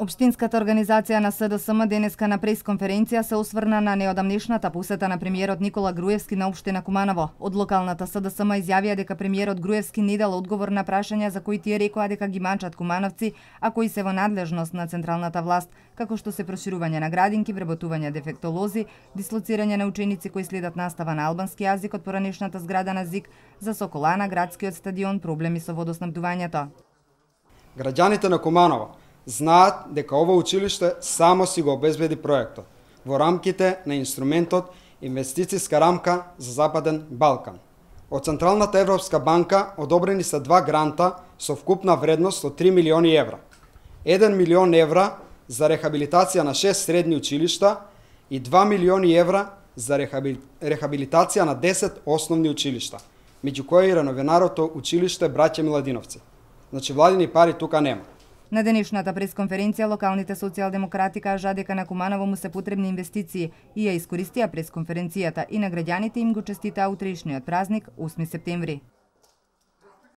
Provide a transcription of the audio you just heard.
Општинската организација на СДСМ денеска на пресконференција се осврна на неодамнешната посета на премиерот Никола Груевски на општина Куманово. Од локалната СДСМ изјавија дека премиерот Груевски не дал одговор на прашања за кои тие рекоа дека ги манчат кумановци, а кои се во надлежност на централната власт, како што се проширување на градинки, вработување дефектолози, дислоцирање на ученици кои следат настава на албански јазик од поранешната зграда на ЗИК, за Соколана, градскиот стадион, проблеми со водоснабдувањето. Граѓаните на Куманово знаат дека ова училиште само си го обезбеди проектот во рамките на инструментот Инвестицијска рамка за Западен Балкан. Од Централната Европска банка одобрени се 2 гранта со вкупна вредност од 3 милиони евра. 1 милион евра за рехабилитација на 6 средни училишта и 2 милиони евра за рехабилитација на 10 основни училишта, меѓу кои и реновенарото училиште Браќа Миладиновци. Значи владини пари тука нема. На денешната пресконференција локалните социјалдемократи кажаа дека на Куманово му се потребни инвестиции и ја искористија пресконференцијата и на граѓаните им го честитаа утрешниот празник 8 септември.